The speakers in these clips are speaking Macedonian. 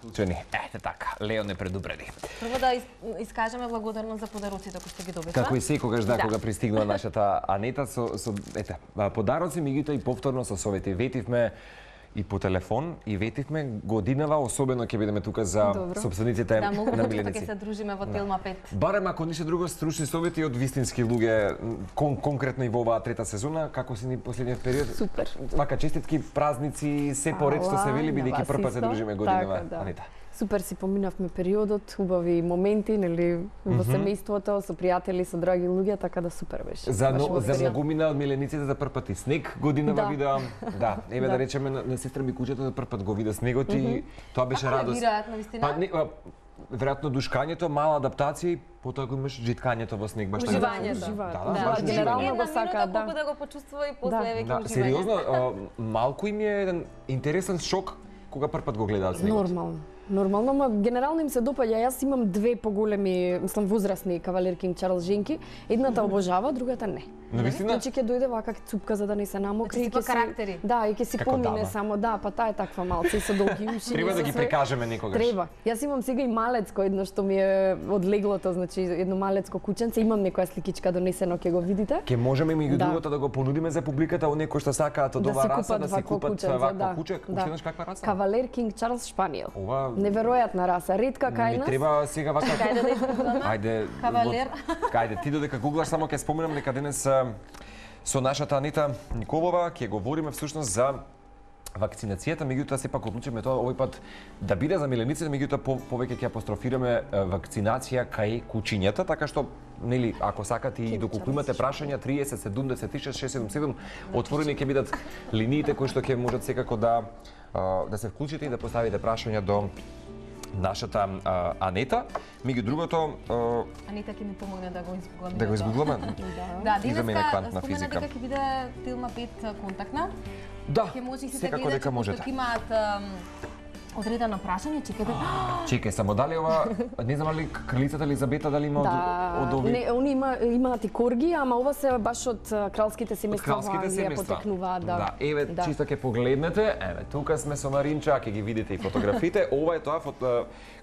Учени. Ете така, Лео не предупреди. Прво да искажеме благодарност за подароците кои сте ги добивме. Како и секогаш кога пристигнува нашата Анета со подароци, меѓутоа и повторно со совети. Ветивме и по телефон и ветивме годинава, особено ќе бидеме тука за сопствениците на миленици. Да, многу ќе се дружиме во Телма 5. Барем ако ништо друго стручни совети од вистински луѓе, конкретно и во оваа трета сезона, како си ни последниот период? Супер. Вака честитки, празници, се поред што се вели, бидејќи прв пат се дружиме годинава, Анита. Супер си поминавме периодот, убави моменти, нели, во семејството, со пријатели, со драги луѓе, така да супер беше. За многумина од милениците за прв пат и снег годинава видеа. Да, еве да речеме на сестра ми куќето за прв пат го вида снегот и тоа беше радост. Веројатно вистина. Веројатно душкањето, мала адаптација и потоа го имаш житкањето во снег, баш така. Уживањето. Да, генерално го сака, да. Колку да го почувствува и после веќе уживање. Сериозно, малку им е еден интересен шок кога прв пат го гледаат снегот. Нормално, но генерално им се допаѓа. Јас имам две поголеми, мислам возрастни кавалер Кинг Чарлс Женки. Едната обожава, другата не. Навистина? Значи ќе дојде вака цупка за да не се намокри и ќе карактери. Да, и ќе си помине само, да, па таа е таква малце со долги уши. Треба да ги прикажеме некогаш. Треба. Јас имам сега и малецко едно што ми е од леглото, значи едно малецко кученце, имам некоја сликичка донесено, ќе го видите. Ке можеме и другото да го понудиме за публиката, оние кои што сакаат од оваа раса да си купат вакво куче. Уште еднаш каква раса? Кавалер Кинг Чарлс Шпаниел. Неверојатна раса, ретка кај нас. Не треба сега вака. Кајде да изгугламе? Ајде. Кавалер. Кајде ти додека гуглаш, само ќе споменам дека денес со нашата Анита Николова ќе говориме всушност за вакцинацијата, меѓутоа сепак одлучиме тоа овој пат да биде за милениците, меѓутоа повеќе ќе апострофираме вакцинација кај кучињата, така што нели ако сакате и доколку имате прашања 30 70 677 отворени ќе бидат линиите кои што ќе можат секако да се вклучите и да поставите прашања до нашата Анета. Меѓу другото Анита ќе ми помогне да го изгугламе. Да го изгугламе? Да, денеска спомена дека ќе биде Телма 5 контактна. Да, ќе може сите секако дека можете. Ќе имаат одредено прашање, чекате. Чекај, само дали ова, не знам ли кралицата Елизабета дали има од овие? Не, они имаат и корги, ама ова се баш од кралските семејства во Англија потекнуваат, да. Еве чисто ќе погледнете, еве тука сме со Маринча, ќе ги видите и фотографите. Ова е тоа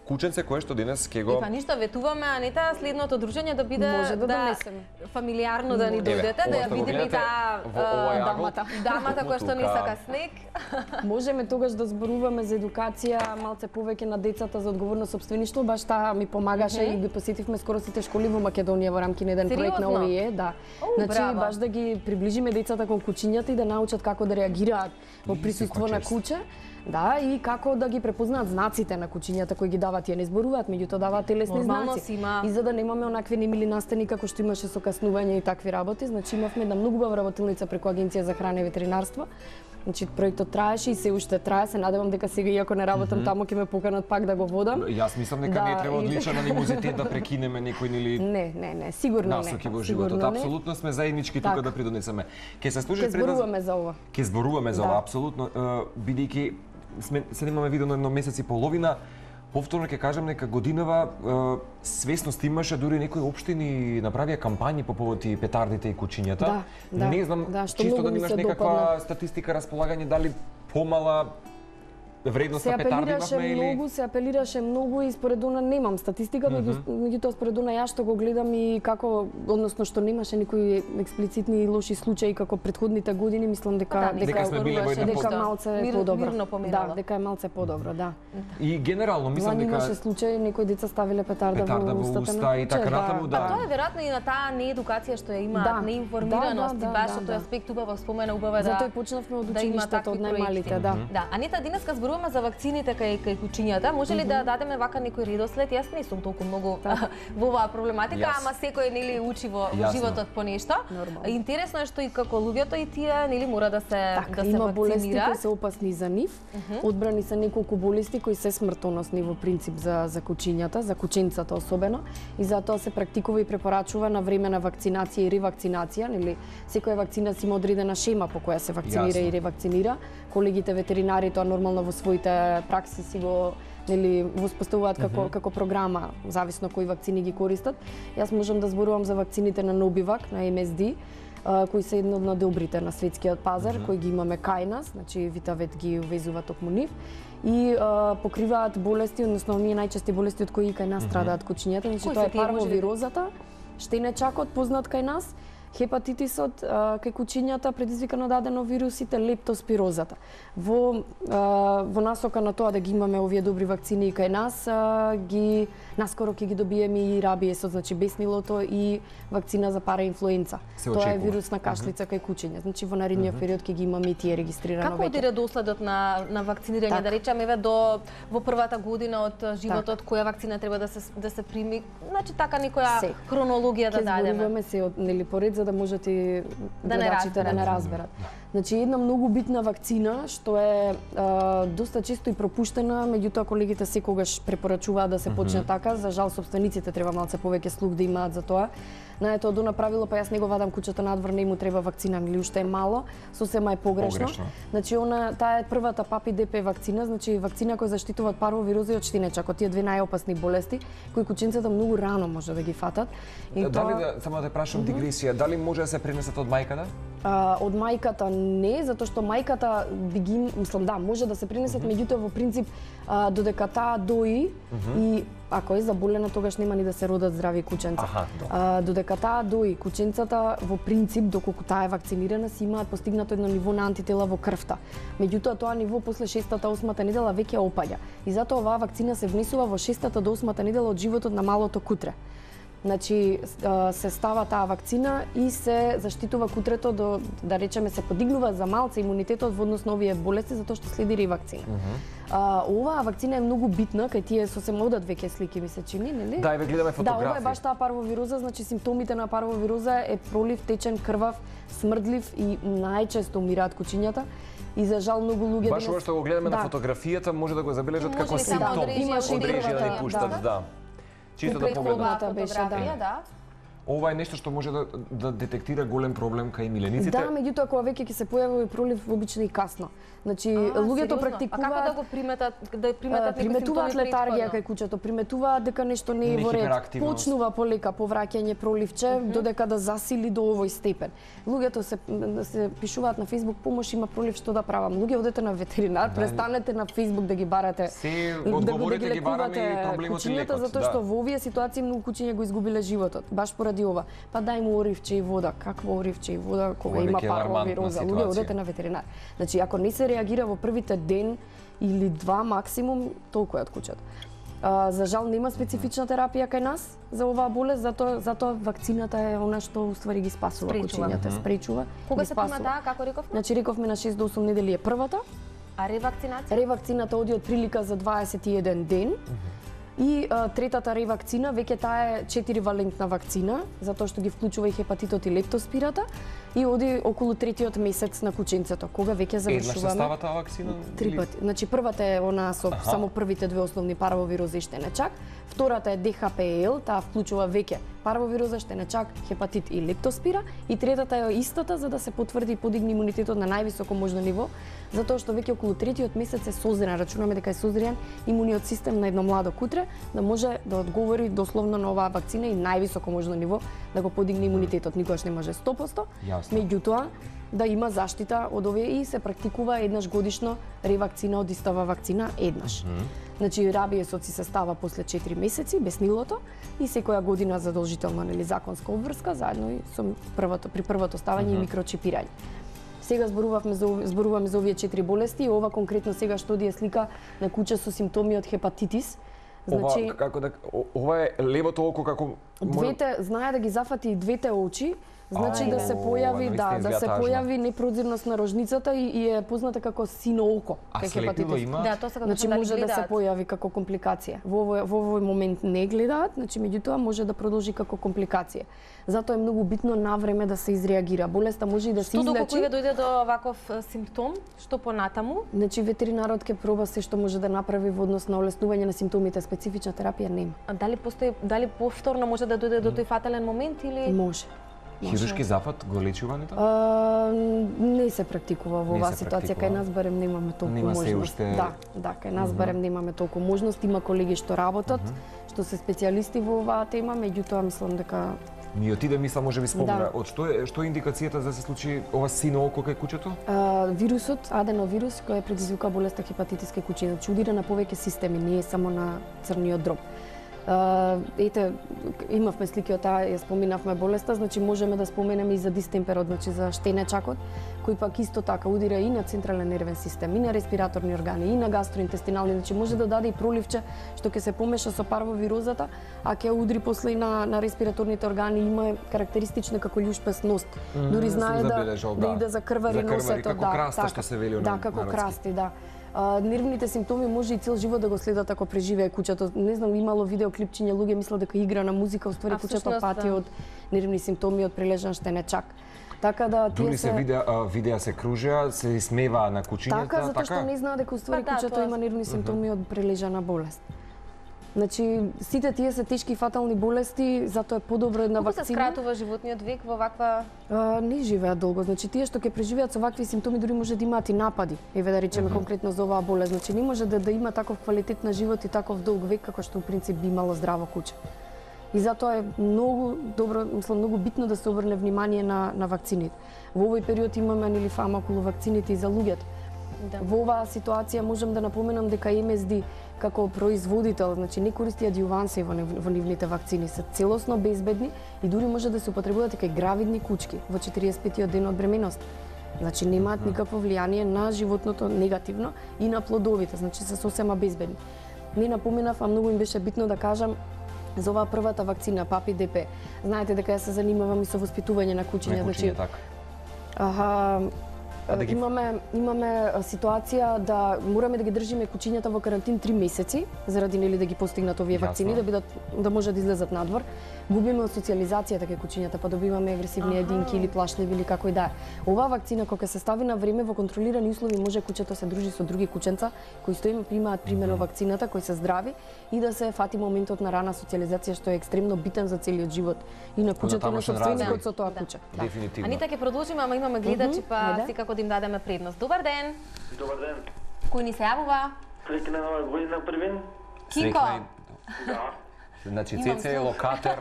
кученце кое што денес ќе го... Па ништо, ветуваме, Анита, следното дружење да биде може да донесеме. Фамилиарно да ни дојдете, да ја видиме и таа дамата која што не сака снег. Можеме тогаш да зборуваме за едукација, малце повеќе на децата за одговорно сопствеништво, баш таа ми помагаше и ги посетивме скоро сите школи во Македонија во рамки на еден проект на овие, да. Значи баш да ги приближиме децата кон кучињата и да научат како да реагираат во присуство на куче. Да, и како да ги препознаат знаците на кучињата кои ги даваат, тие не зборуваат, меѓутоа даваат телесни знаци. И за да немаме онакви немили настани како што имаше со каснување и такви работи, значи имавме една многу убава работилница преку Агенција за храна и ветеринарство. Значи проектот траеше и се уште трае, се надевам дека сега иако не работам таму ќе ме поканат пак да го водам. Јас мислам дека не треба одличен анимозитет да прекинеме некој или Не, сигурно не. Насоки во животот, апсолутно сме заеднички тука да придонесеме. Ќе се слушаш пред зборуваме за ова. Ќе зборуваме за ова, апсолутно, бидејќи се немаме видено едно месец и половина. Повторно ќе кажам дека годинава свесност имаше, дури некои општини направија кампањи по повод и петардите и кучињата. Не знам, чисто да имаш некаква статистика, располагање, дали помала вредност на петарди имавме или... Се апелираше многу и според она немам статистика, меѓутоа според она јас што го гледам и како, односно што немаше никои експлицитни лоши случаи како претходните години, мислам дека малце подобро. Да, дека е малце подобро, да. И генерално мислам дека имаше случаи некои деца ставиле петарда во уста и така натаму, да. Тоа е веројатно и на таа неедукација што ја имаат, неинформираност и баш тој аспект убаво спомена, убаво е да. Затоа почнавме од училиштето, од најмалите, да. Да, Анита, денеска зборуваме за вакцините кај кучињата. Може ли да дадеме вака некој редослед? Јас не сум толку многу во оваа проблематика, ама секој нели учи во животот по нешто. Интересно е што и како луѓето и тие нели мора да се вакцинира. Има болести кои се опасни за нив. Одбрани се неколку болести кои се смртоносни во принцип за кучињата, за кученцата особено, и затоа се практикува и препорачува на време на вакцинација и ревакцинација, нели секоја вакцина си има одредена шема по која се вакцинира и ревакцинира. Колегите ветеринари тоа нормално во своите пракси си го нели воспоставуваат како програма, зависно кои вакцини ги користат. Јас можам да зборувам за вакцините на Novavax, на MSD, кои се едно од добрите на светскиот пазар, кои ги имаме кај нас, значи Витавет ги увезува токму нив. и покриваат болести, односно оние најчести болести од кои кај нас страдаат кучињата. Значи тоа е парвовирозата, штенечакот познат кај нас, хепатитисот кај кучињата предизвикан од аденовирусите, лептоспирозата. Во насока на тоа да ги имаме овие добри вакцини и кај нас, наскоро ќе ги добиеме и рабиесот, значи беснилото и вакцина за параинфлуенца. Тоа е вирусна кашлица кај кучиња. Значи во наредниот период ќе ги имаме и тие регистрирано веќе. Како оди редоследот на вакцинирање, да речеме во првата година од животот, која вакцина треба да се прими? Значи така некоја хронологија да дадеме. Ќе зборуваме се од поред за да можете гледачите да не разберат. Значи една многу битна вакцина што е доста често и пропуштена, меѓутоа колегите секогаш препорачуваат да се почне така. За жал собствениците треба малце повеќе слух да имаат за тоа. Знаете, од она правило, па јас не го вадам кучето надвор, не му треба вакцина, или уште е мало, сосема е погрешно. Значи таа е првата ПАПИ-ДП вакцина, значи вакцина која заштитува од парвовироза и од штинечакот, тие две најопасни болести кои кученцата многу рано може да ги фатат. И дали само да те прашам дигресија, дали може да се пренесат од мајката? Од мајката не, затоа што мајката може да се пренесат, меѓутоа во принцип додека таа дои и ако е заболена, тогаш нема ни да се родат здрави кученца. Додека таа дои, кученцата во принцип, доколку таа е вакцинирана, си имаат постигнато едно ниво на антитела во крвта. Меѓутоа тоа ниво после 6-8 недела веќе опаѓа. И затоа оваа вакцина се внесува во 6-та до 8-та недела од животот на малото кутре. Значи се става таа вакцина и се заштитува кутрето до, да речеме, се подигнува за малце имунитетот во однос на овие болести затоа што следи ревакцина. Оваа вакцина е многу битна, кај тие сосема одат веќе слики ми се чини, нели? Да, ве гледаме фотографии. Да, ова е баш таа парвовироза, значи симптомите на парвовироза е пролив, течен, крвав, смрдлив и најчесто умираат кучињата. И за жал многу луѓе баш ова што го гледаме на фотографијата може да го забележат како симптом. Имаше одрежи да ни пуштат, да. Чисто да погледнат. Беше, да. Ова е нешто што може да детектира голем проблем кај милениците. Да, меѓутоа кога веќе ќе се појави пролив обично и касно. Значи луѓето практикуваат. А како да го приметат, приметуваат летаргија кај кучето, приметуваат дека нешто не е во ред. Почнува полека повраќање проливче додека да засили до овој степен. Луѓето се пишуваат на Facebook помош, има пролив, што да правам. Луѓе одете на ветеринар, престанете на Facebook да ги барате. Одговорите ги бараме и проблемот е лекот. Затоа што во овие ситуации многу кучиња го изгубиле животот. Баш поради ова. Па дај му оривче и вода. Какво оривче и вода кога има парвовироза? Луѓе одете на ветеринар. Значи ако не се реагира во првите ден или два максимум, толку е од кучето. За жал нема специфична терапија кај нас за оваа болест, затоа вакцината е она што уствари ги спасува кучињата, спречува. Кога се прима таа, како рековме? Значи рековме на 6 до 8 недели е првата. А ревакцинација? Ревакцината оди од прилика за 21 ден. И третата ревакцина, веќе таа е 4-валентна вакцина, затоа што ги вклучува и хепатитот и лептоспирата, и оди околу третиот месец на кученцето, кога веќе завршуваме. Еднаш се става таа вакцина? 3 пати. Значи првата е она со само првите две основни парвовирози и штенечак, втората е ДХПЛ, таа вклучува веќе парвовироза, штенечак, хепатит и лептоспира, и третата е истата за да се потврди и подигне имунитетот на највисоко можно ниво, затоа што веќе околу третиот месец е созрен, рачунаме дека е созрен имуниот систем на едно младо кутре, да може да одговори дословно на оваа вакцина и највисоко можно ниво да го подигне имунитетот. Никогаш не може 100%, меѓутоа да има заштита од овие и се практикува еднаш годишно ревакцина од истава вакцина еднаш. Значи рабиесот си се става после 4 месеци, беснилото, и секоја година задолжително, нели, законска обврска заедно и со при првото ставање и микрочипирање. Сега зборуваме за овие 4 болести и ова конкретно сега што оди е слика на куче со симптоми од хепатитис. Значи ова е левото око како двете знае да ги зафати и двете очи. Значи да се појави непрозирност на рожницата и е позната како сино око кај хепатитис. Да, тоа се значи може да се појави како компликација. Во овој момент не гледаат, значи меѓутоа може да продолжи како компликација. Затоа е многу битно навреме да се изреагира. Болеста може и да се излечи. Што доколку дојде до ваков симптом, што понатаму? Значи ветеринарот ќе проба се што може да направи во однос на олеснување на симптомите, специфична терапија нема. А дали повторно може да дојде до тој фатален момент или може? Хируршки зафат го лечувањето? Не се практикува во оваа ситуација, кај нас барем немаме толку можност. Да, кај нас барем немаме толку можност, има колеги што работат, што се специјалисти во оваа тема, меѓутоа мислам дека Ми отиде мисла, може би спомена, од што е индикацијата за да се случи ова сино око кај кучето? Вирусот, аденовирус, кој предизвика болеста хепатитис кај кучиња, значи удира на повеќе системи, не е само на црниот дроб. Ете, имавме слики од таа, ја споминавме болеста, значи можеме да споменеме и за дистемперот, значи за штенечакот, кој пак исто така удира и на централен нервен систем, и на респираторни органи, и на гастроинтестинални, значи може да даде и проливче што ќе се помеша со парвовирозата, а ќе удри после и на респираторните органи, има карактеристична како љушпест нос. Дури знае да иде за крвари носето, како краста што се вели на како красти, да. Нервните симптоми може и цел живот да го следат ако преживее кучето. Не знам, имало видеоклипчиња, луѓе мислат дека игра на музика, уствари кучето пати од нервни симптоми од прележан штенечак. Така да дури се видеа се кружеа, се смеваа на кучињата, така затоа што не знаат дека уствари кучето има нервни симптоми од прележана болест. Значи, сите тие се тешки и фатални болести, затоа е подобро една вакцина. Колку се скратува животниот век во ваква... Не живеат долго. Значи, тие што ќе преживеат со вакви симптоми, дури може да имаат и напади. Еве да речеме конкретно за оваа болест. Значи, не може да има таков квалитет на живот и таков долг век, како што у принцип би имало здраво куче. И затоа е многу добро, мислам, многу битно да се обрне внимание на вакцините. Во овој период имаме нели фама околу вакцините и за луѓето. Да. Во оваа ситуација можам да напоменам дека МСД како производител, значи не користи адјуванси во нивните вакцини, се целосно безбедни и дури може да се употребуваат и кај гравидни кучки во 45-тиот ден од бременост. Значи немаат никакво влијание на животното негативно и на плодовите, значи се сосема безбедни. Не напоменав, а многу им беше битно да кажам за оваа првата вакцина Папи ДП. Знаете дека ја се занимавам и со воспитување на кучиња, значи имаме ситуација да мораме да ги држиме кучињата во карантин 3 месеци заради нели да ги постигнат овие вакцини, да може да излезат надвор. Губиме од социјализацијата кај кучињата, па добиваме агресивни единки или плашливи или како и да е. Оваа вакцина кога се стави на време во контролирани услови може кучето се дружи со други кученца кои што им примаат примерно вакцината, кои се здрави и да се фати моментот на рана социјализација што е екстремно битен за целиот живот и на кучето и на собственикот со тоа куче. Дефинитивно. Анита ќе продолжиме, ама имаме гледачи, па секако да им дадеме предност. Добар ден. Добар ден. Кој ни се јавува? Среќна нова година првин. Кико. Да. Значи, Цеце е локатор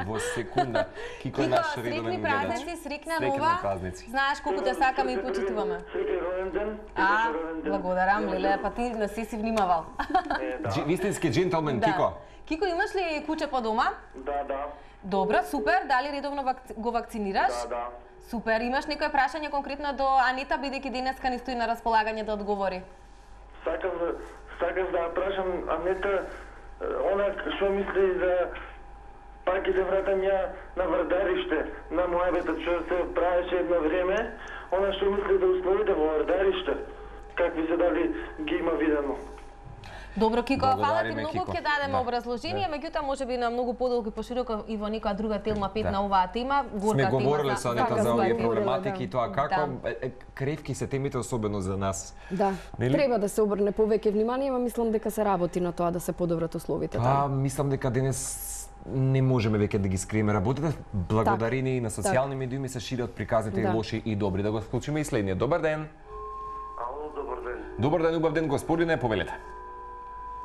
во секунда. Кико е наш редовен гледач. Срекна нова. Знаеш колку те сакаме и почитуваме. Среќен роден ден. Благодарам, Леле, па ти не си внимавал. Вистински джентълмен, Кико. Кико, имаш ли куче по дома? Да. Добро, супер. Дали редовно го вакцинираш? Да. Супер. Имаш некој прашање конкретно до Анита, бидејќи денеска ни стои на располагање да одговори? Сакам да прашам Анита, она што мисли за пак и да вратам ја на Вардариште, на мојабетот што се правеше едно време, она што мисли да условите во Вардариште, какви се дали ги има видено. Добро, Кико, фала ти многу, ќе дадеме образложение, меѓутоа можеби на многу подолго и пошироко и во некоја друга телма 5 на оваа тема, горка тема. Сме говореле со Анита за овие проблематики и тоа како кревки се темите особено за нас. Да, треба да се обрне повеќе внимание, ама мислам дека се работи на тоа да се подобрат условите. Мислам дека денес не можеме веќе да ги скриеме работите. Благодарение и на социјални медиуми се шират приказните и лоши и добри. Да го вклучиме и следниот. Добар ден. Ало, добар ден. Добар ден, убав ден, господине, повелете.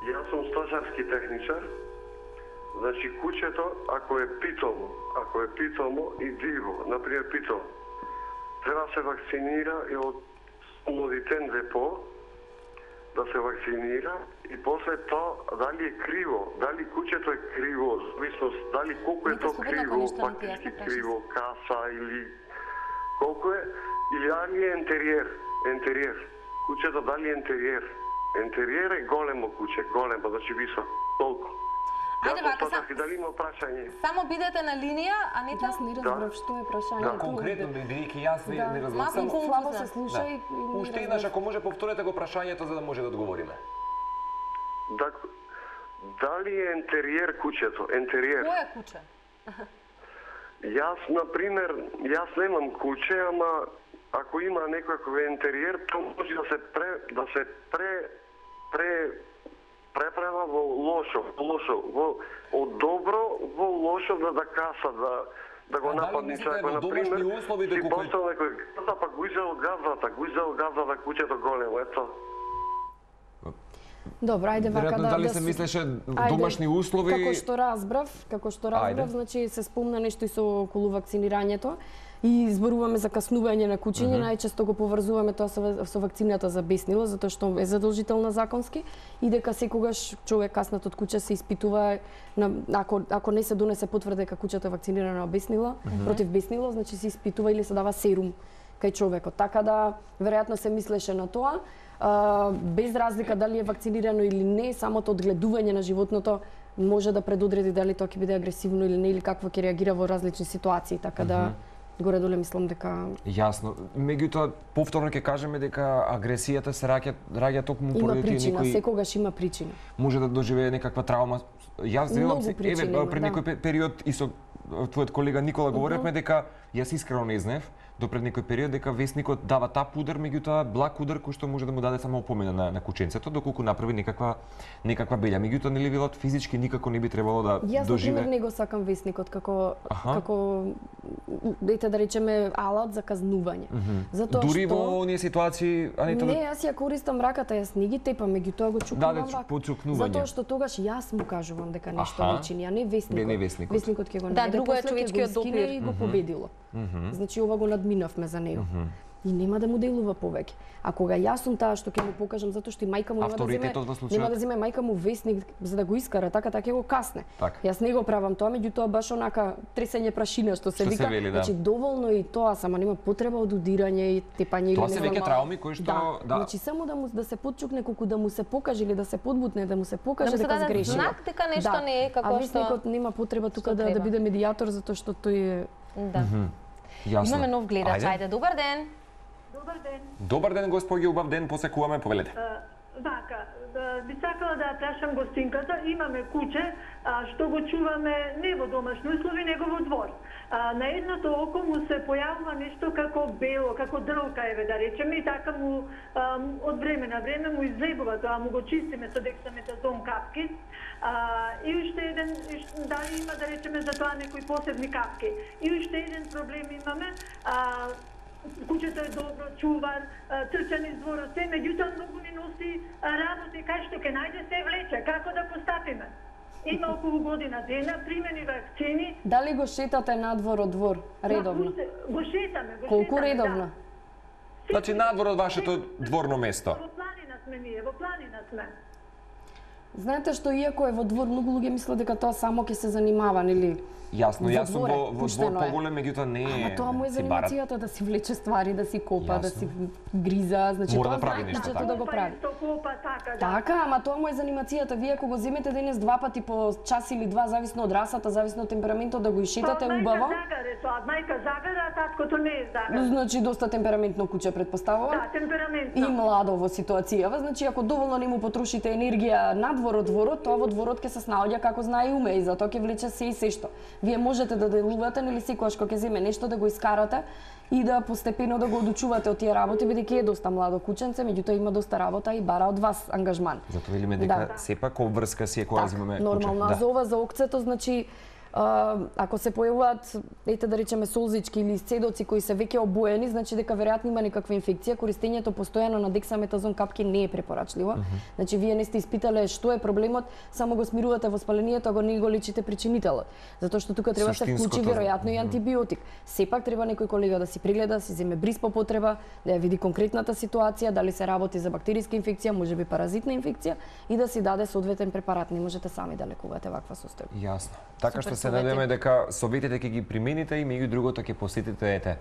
Јас сум стожарски техничар. Значи, кучето, ако е питомо и диво, например питомо, треба се вакцинира и од младитен депо, да се вакцинира и после тоа дали е криво, дали кучето е криво, зависност дали колку е тоа криво, патички криво, каса или колку е, или дали е ентериер. Кучето дали е ентериер. Ентериер е големо куче, големо, значи висок, толку. Ајде вака, дали има прашање? Само бидете на линија, Анита. Јас не разбрав што е прашањето. Да, конкретно, бидејќи јас не разбрав. Слабо се слуша и уште еднаш, ако може повторете го прашањето за да може да одговориме. Дали е ентериер кучето? Ентериер. Кој е куче? Јас, например, немам куче, ама ако има некој ентериер, тоа може да се преправа во лошо, од добро во лошо да каса, да го нападне човек, например, си постал некој газа, па го изел газата, кучето големо, ето. Добро, ајде вака Веројатно дали се мислеше домашни услови. Како што разбрав, значи се спомна нешто и со околу вакцинирањето. И зборуваме за каснување на кучиња, најчесто го поврзуваме тоа со вакцината за беснило, затоа што е задолжителна законски и дека секогаш човек каснат од куќа се испитува ако не се донесе потврда дека куќето е вакцинирано беснило, против беснило, значи се испитува или се дава серум кај човекот. Така да веројатно се мислеше на тоа, без разлика дали е вакцинирано или не, самото одгледување на животното може да предодреди дали тоа ќе биде агресивно или не, или какво ќе реагира во различни ситуации, така да горе-доле мислам дека Јасно. Меѓутоа повторно ќе кажеме дека агресијата се раѓа токму поради тие некои секогаш има причина. Може да доживее некаква травма. Јас велам се пред некој период и со твојот колега Никола говоревме дека јас искрено не знаев до пред некој период дека весникот дава тап удар, меѓутоа благ удар кој што може да му даде само опомена на кученцето доколку направи некаква белја. Меѓутоа нели велат физички никако не би требало да доживее. Јас например не го сакам весникот како да речеме алат за казнување. Затоа дури во оние ситуации, Анита, не, јас ја користам раката, јас не ги тепам, меѓутоа го чукнувам вака. Затоа што тогаш јас му кажувам дека нешто личини, а не весникот. Весникот ќе го најде. Да, друго е човечкиот допир и го победило. Значи ова го надминавме за него. И нема да му делува повеќе. А кога јас сум таа што ќе му покажам, затоа што и мајка му нема да земе мајка му весник за да го искара, така ќе го касне. Јас не го правам тоа, меѓутоа баш онака тресење прашина што се вика, значи доволно и тоа, само нема потреба од удирање и тепање или тоа се веќе трауми кои што значи само да се потчукне колку да му се покаже или да се подбутне, да му се покаже дека сгреши. Знак дека нешто не е како што. А весникот нема потреба тука да биде медијатор затоа што тој е Имаме нов гледач, ајде, добар ден. Добар ден. Добар ден, господи, убав ден, посекуваме, повелете. Вака, би сакала да прашам гостинката, имаме куче што го чуваме не во домашни услови, него во двор. На едното око му се појавува нешто како бело, како дрвка еве да речеме, и така му од време на време му излебува тоа, му го чистиме со дексаметазон капки. И уште еден, дали има да речеме за тоа некои посебни капки. И уште еден проблем имаме, кучето е добро, чувар, трчан из дворот, се, меѓутоа многу ни носи работи, кај што ќе најде се влече, како да постапиме. Има околу година дена, примени вакцини. Дали го шетате надвор од двор, редовно? Го шетаме, Колку редовно? Значи надвор од вашето дворно место? Во планина сме ние, во планина сме. Знаете што иако е во двор, многу луѓе мислат дека тоа само ќе се занимава, нели? Јасно, јас сум во двор поголем, меѓутоа не е. Ама тоа му е занимацијата да си влече ствари, да си копа, да си гриза, значи тоа прави нешто да го прави. Така, ама тоа му е занимацијата. Вие ако го земете денес два пати по час или два, зависно од расата, зависно од темпераментот, да го ишетате убаво. Мајка загара, а таткото не е загара. Значи доста темпераментно куче предпоставува. Да, темпераментно. И младо во ситуацијава, значи ако доволно не му потрошите енергија надвор од дворот, тоа во дворот ќе се снаоѓа како знае и уме и затоа ќе влече се и сешто. Вие можете да делувате, нели секогаш кога ќе земе нешто да го искарате и да постепено да го одучувате од тие работи, бидејќи е доста младо кученце, меѓутоа има доста работа и бара од вас ангажман. Затоа велиме дека сепак обврска си е кога земеме куче. Нормално, а за ова за окцето, значи ако се појавуваат, ете да речеме солзички или исцедоци кои се веќе обоени, значи дека веројатно има некаква инфекција, користењето постојано на дексаметазон капки не е препорачливо. Значи вие не сте испитале што е проблемот, само го смирувате воспалението, а го не го лечите причинителот. Затоа што тука треба се вклучи веројатно и антибиотик. Сепак треба некој колега да си прегледа, да си земе бриз по потреба, да ја види конкретната ситуација, дали се работи за бактериска инфекција, можеби паразитна инфекција и да си даде соодветен препарат. Не можете сами да лекувате ваква состојба. Јасно. Така што се надеваме дека советите ќе ги примените и меѓу другото ќе посетите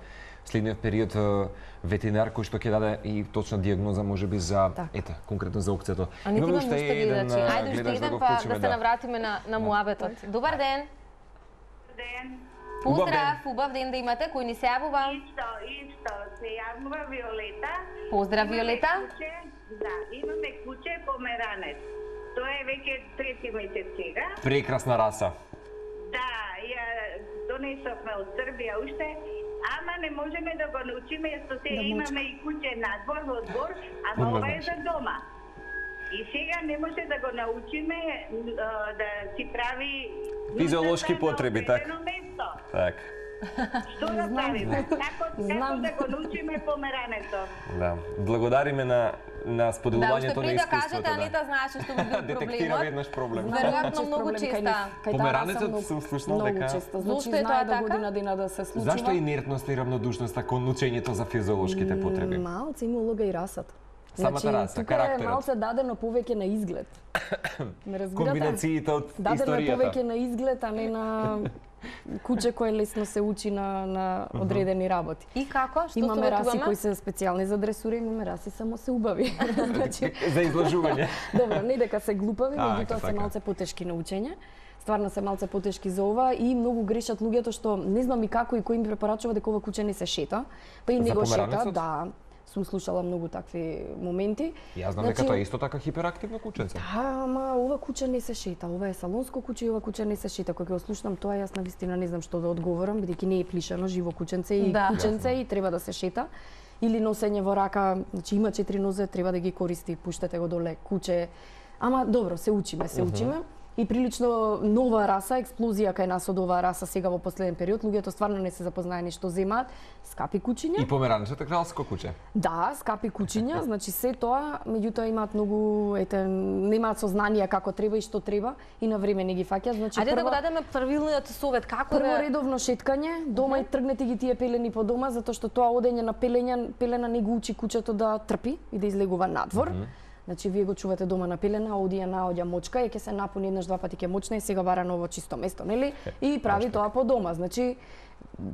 следниот период ветеринар кој што ќе даде и точна дијагноза можеби за конкретно за окцето. Имаме уште еден гледач да се навратиме на муабетот. Добар ден. Ден. Поздрав, убав ден да имате. Кој ни се јавува? Исто, се јавува Виолета. Поздрав, Виолета. Да, имаме куче померанец. Тоа е веќе трети месец сега. Прекрасна раса. Да, ја донесовме од Србија уште, ама не можеме да го научиме, што се имаме и куче надвор во двор, ама ова е за дома. И сега не може да го научиме да си прави физиолошки потреби, така? Так. Што да правиме? Како да го научиме померането? Да, благодариме на на споделувањето на искуството. Да, уште пред да кажете, Анита знаеше што би бил проблемот. Детектира веднаш проблем. Веројатно многу често. Померанецот сум слушнал дека... Зошто е тоа така? Година дена да се случува. Зашто инертноста и равнодушноста кон учењето за физиолошките потреби? Малце има улога и расата. Самата раса, карактерот. Тука е малце дадено повеќе на изглед. Ме разбирате? Комбинациите од историјата. Дадено е повеќе на изглед, а не на куче кое лесно се учи на одредени работи. И како? Што имаме раси кои се специјални за дресура, имаме раси само се убави. За излажување. Добро, не дека се глупави, меѓутоа се малце потешки на учење. Стварно се малце потешки за ова и многу грешат луѓето што не знам и како и кој им препорачува дека ова куче не се шета, па и не го шета, да. Сум слушала многу такви моменти. Јас знам дека тоа е исто така хиперактивно кученце. Да, ама ова куче не се шета. Ова е салонско куче и ова куче не се шета. Кога го слушнам тоа, јас навистина не знам што да одговорам, бидејќи не е плишано, живо кученце и кученце и треба да се шета. Или носење во рака, значи има 4 нозе, треба да ги користи, пуштете го доле, куче. Ама добро, се учиме. И прилично нова раса, експлозија кај нас од оваа раса сега во последен период. Луѓето стварно не се запознаени што земаат. Скапи кучиња. И померанецот е кралско куче. Да, скапи кучиња, значи се тоа, меѓутоа имаат многу, немаат сознание како треба и што треба и на време не ги фаќаат. Значи ајде да го дадеме правилниот совет, како прво редовно шеткање, дома и тргнете ги тие пелени по дома, затоа што тоа одење на пелена не го учи кучето да трпи и да излегува надвор. Значи, вие го чувате дома на пелена, одија наоѓа мочка и ќе се напуни еднаш-два пати ќе мочне и сега бара ново чисто место, нели? И прави тоа по дома. Значи,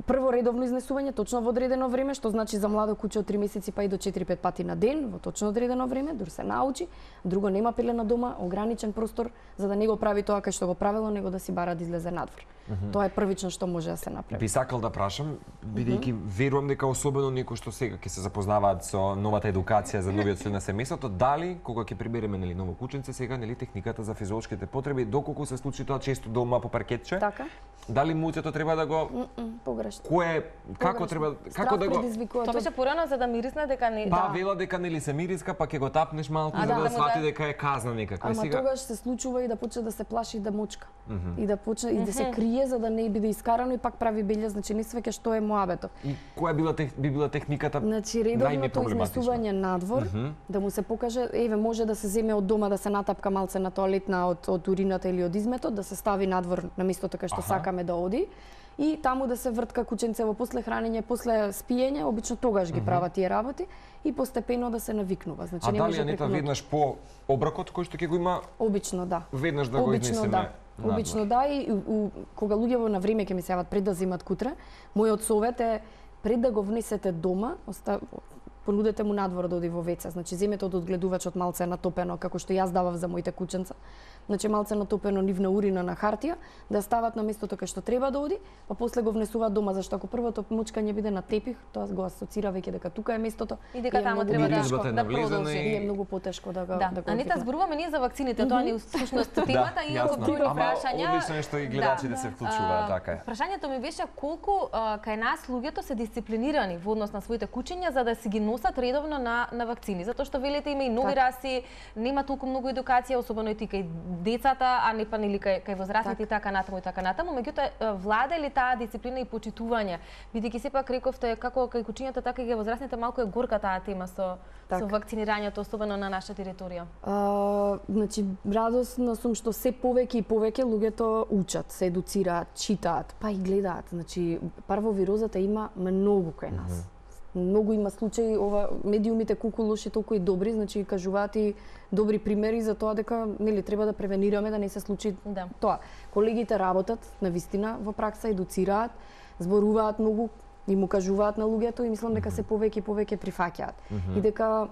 прво редовно изнесување точно во одредено време, што значи за младо куче од 3 месеци па и до 4-5 пати на ден, во точно одредено време, дури се научи. Друго, нема пелена дома, ограничен простор, за да не го прави тоа кај што го правело, него да си бара да излезе надвор. Тоа е првично што може да се направи. Би сакал да прашам, бидејќи верувам дека особено некои што сега ќе се запознаваат со новата едукација за новиот член на семејството, дали кога ќе прибереме нели ново кученце сега, нели техниката за физиолошките потреби, доколку се случи тоа често дома по паркетче? Така. Дали муцето треба да го погрешно. Како треба како да го Тоа беше порано за да мирисне дека не Па вела дека нели се мириска, па ќе го тапнеш малку за да свати дека е казна некаква. Ама тогаш се случува и да почне да се плаши да мочка. И да почне и да се крие за да не биде искарано и пак прави белја, значи не свеќе што е моабето. И која би била техниката? Значи редовното изнесување надвор, да му се покаже, еве може да се земе од дома да се натапка малце на тоалетна од урината или од изметот, да се стави надвор на местото кај што сакаме да оди. И таму да се вртка кученцево после хранење, после спиење, обично тогаш ги прават тие работи и постепено да се навикнува. Значи не може Анита веднаш по обракот кој што ќе го има? Обично да. Веднаш да го изнесеме. Обично да и кога луѓето на време ќе ми се јават пред да земат кутре, мојот совет е пред да го внесете дома, понудете му надвор да оди во веце. Значи земете од одгледувачот малце натопено како што јас давав за моите кученца. Значи малце натопено нивна урина на хартија, да стават на местото кај што треба да оди, па после го внесуваат дома, зашто ако првото мучкање биде на тепих, тоа го асоцира веќе дека тука е местото и дека таму треба да продолжи. И е многу потешко да го Анита, зборуваме ние за вакцините, тоа ни всушност темата и ако други прашања. Одлично е што и гледачите се вклучуваат, така е. Прашањето ми беше колку кај нас луѓето се дисциплинирани во однос на своите кучиња за да си ги носат редовно на вакцини, затоа што велите има и нови раси, нема толку многу едукација, особено и ти кај децата, а не па нели кај возрастните и така натаму и така натаму, меѓутоа влада ли таа дисциплина и почитување, бидејќи сепак рековте како кај кучињата така и кај возрастните малку е горка таа тема со вакцинирањето, особено на наша територија. Значи радосна сум што се повеќе и повеќе луѓето учат, се едуцираат, читаат, па и гледаат. Значи парвовирозата има многу кај нас. Многу има случаи, медиумите колку лоши, толку и добри, значи кажуваат и добри примери за тоа дека нели треба да превенираме да не се случи тоа. Колегите работат навистина во пракса, едуцираат, зборуваат многу и му кажуваат на луѓето и мислам дека се повеќе и повеќе прифаќаат. И дека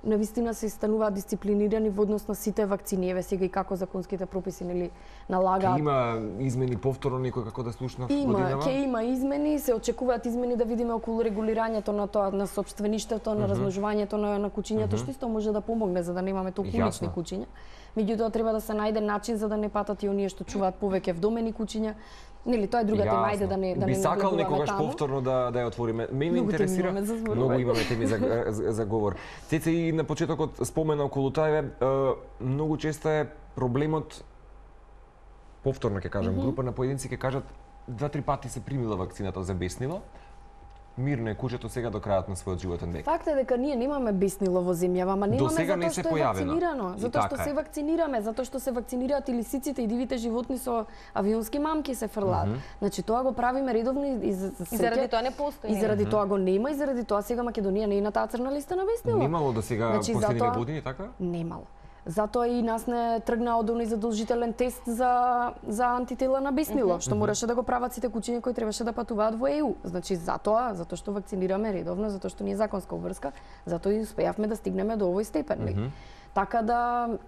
навистина се стануваат дисциплинирани во однос на сите вакцини, еве сега и како законските прописи нели налагаат. Има измени повторно некој како да слушнав годинава? Ќе има измени, се очекуваат измени да видиме околу регулирањето на тоа, на сопствеништето, на размножувањето на кучињата, што исто може да помогне за да немаме толку улични кучиња. Меѓутоа треба да се најде начин за да не патат и оние што чуваат повеќе вдомени кучиња. Нели тоа е друга тема, ајде да не би сакал некогаш повторно да ја отвориме. Мене интересира многу имаме теми за говор. Цеце и на почетокот спомена околу тоа многу често е проблемот повторно ќе кажам, група на поединци ќе кажат 2-3 пати се примила вакцината, забеснила. мирно е кучето сега до крајот на својот животен век. Факт е дека ние немаме беснило во земјава, ама немаме затоа што е вакцинирано, затоа што се вакцинираме, затоа што се вакцинираат и лисиците и дивите животни со авионски мамки се фрлаат. Значи тоа го правиме редовно и заради тоа не постои. И заради тоа го нема и заради тоа сега Македонија не е на таа црна листа на веснило. Немало до сега последниве години така? Немало. Затоа и нас не тргна од оној задолжителен тест за антитела на беснило, што мораше да го прават сите кучиња кои требаше да патуваат во ЕУ. Значи затоа што вакцинираме редовно, затоа што ни е законска обврска, затоа и успеавме да стигнеме до овој степен. Така да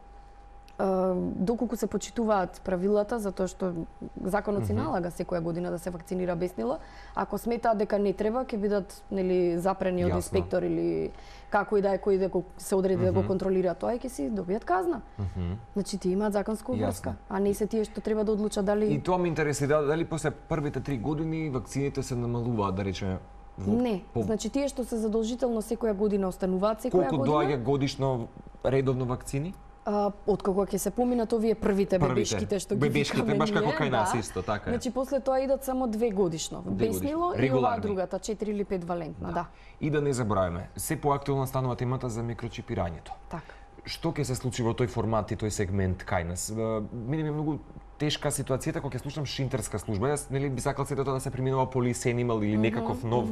доколку се почитуваат правилата, затоа што законот си налага секоја година да се вакцинира беснило, ако сметаат дека не треба, ќе бидат запрени од инспектор или како и да е кој да се одреди да го контролира тоа и ќе си добијат казна. Значи тие имаат законска обврска, а не се тие што треба да одлучат дали. И тоа ме интересира дали после првите 3 години вакцините се намалуваат, да речеме. Не, значи тие што се задолжително секоја година остануваат секоја година. Колку доаѓа годишно редовно вакцини? Откако ќе се поминат овие првите бебешките што ги бебешките баш како кај нас исто, така е. Значи после тоа идат само 2 годишно. Беснило и ова другата 4 или 5 валентна, да. И да не забравиме, се поактуелна станува темата за микрочипирањето. Така. Што ќе се случи во тој формат и тој сегмент кај нас? Мене ми е многу тешка ситуацијата кога ќе слушам шинтерска служба. Јас би сакал сето тоа да се преминува полисенимал или некаков нов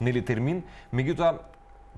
термин, меѓутоа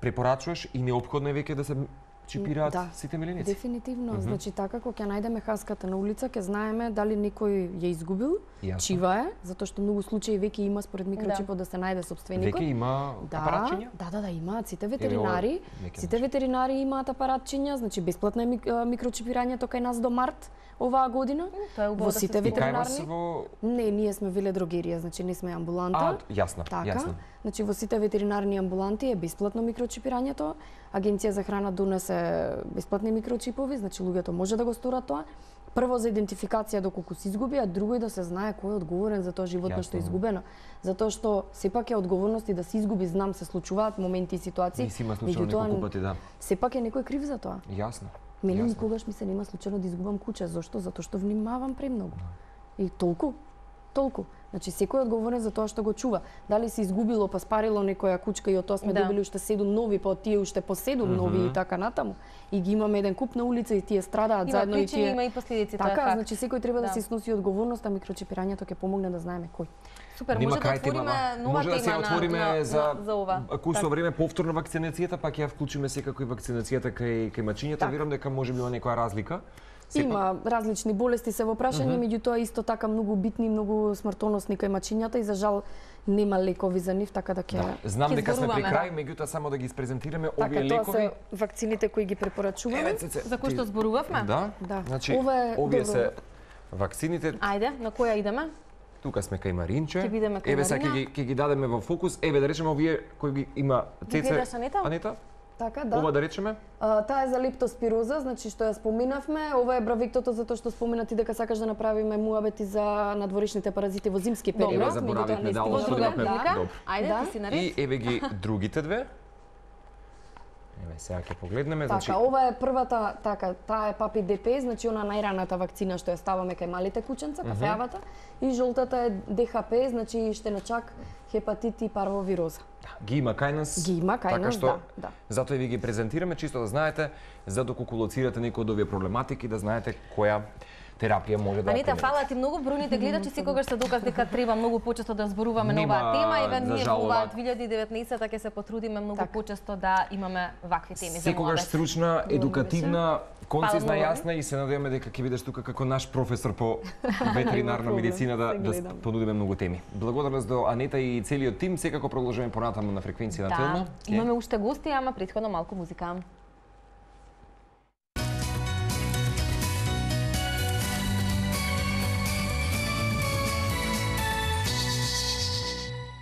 препорачуваш и неопходно е веќе да се чипираат сите миленици? Дефинитивно. Значи така кога ќе најдеме хаската на улица, ќе знаеме дали некој ја изгубил, чива е, затоа што многу случаи веќе има според микрочипот да се најде собственикот. Веќе има апаратчиња? Да, имаат сите ветеринари. Сите ветеринари имаат апаратчиња, значи бесплатно е микрочипирањето кај нас до март оваа година. Во сите ветеринарни. Во... Не, ние сме веледрогерија, значи не сме амбуланта. Јасно, јасно. Значи во сите ветеринарни амбуланти е бесплатно микрочипирањето. Агенција за храна донесе бесплатни микрочипови, значи луѓето може да го сторат тоа. Прво за идентификација доколку се изгуби, а друго и да се знае кој е одговорен за тоа животно што е изгубено. Затоа што сепак е одговорност и да се изгуби, знам се случуваат моменти и ситуации. Меѓутоа, сепак е некој крив за тоа. Јасно. Мене никогаш ми се нема случајно да изгубам куче. Зошто? Затоа што внимавам премногу. И толку. Значи секој е одговорен за тоа што го чува. Дали се изгубило па спарило некоја кучка и од тоа сме добили уште 7 нови, па од тие уште по 7 нови и така натаму. И ги имаме еден куп на улица и тие страдаат заедно и тие. Има и последици, тоа е факт. Значи секој треба да се сноси одговорност, а микрочипирањето ќе помогне да знаеме кој. Супер, може да отвориме нова тема да се отвориме за ова. Ако со време повторно вакцинацијата, па ќе ја вклучиме секако и вакцинацијата кај мачињата. Верувам дека можеби има некоја разлика. Има различни болести се во прашање, меѓутоа исто така многу битни, многу смртоносни кај мачињата и за жал нема лекови за нив, така да ќе знам дека сме при крај, меѓутоа само да ги испрезентираме овие лекови. Така, тоа се вакцините кои ги препорачуваме. За кои што зборувавме? Да. Значи, овие се вакцините. Ајде, на која идеме? Тука сме кај Маринче. Еве сега ќе ги дадеме во фокус. Еве да речеме овие кои ги има Цеце. Анета? Така, да. Ова да речеме? Таа е за лептоспироза, значи што ја споминавме. Ова е бравиктото затоа што спомина ти дека сакаш да направиме муабети за надворешните паразити во зимски период. Еве заборавивме да оставиме. Ајде, ти си наред. И еве ги другите две. Еве сега ќе погледнеме, значи ова е првата, таа е папи ДП, значи она најраната вакцина што ја ставаме кај малите кученца, кафеавата, и жолтата е ДХП, значи штеночак, хепатит и парвовироза. Ги има кај нас. Ги има кај нас, да. Затоа и ви ги презентираме чисто да знаете, за доколку лоцирате некои од овие проблематики, да знаете која терапија може да Анита, фала ти многу. Бројните гледачи секогаш се доказ дека треба многу почесто да зборуваме на оваа тема. Еве ние во оваа 2019 ќе се потрудиме многу почесто да имаме вакви теми за секогаш стручна, едукативна, концизна, јасна и се надеваме дека ќе бидеш тука како наш професор по ветеринарна медицина да понудиме многу теми. Благодарност до Анета и целиот тим. Секако продолжуваме понатаму на фреквенција на Телма. Имаме уште гости, ама претходно малку музика.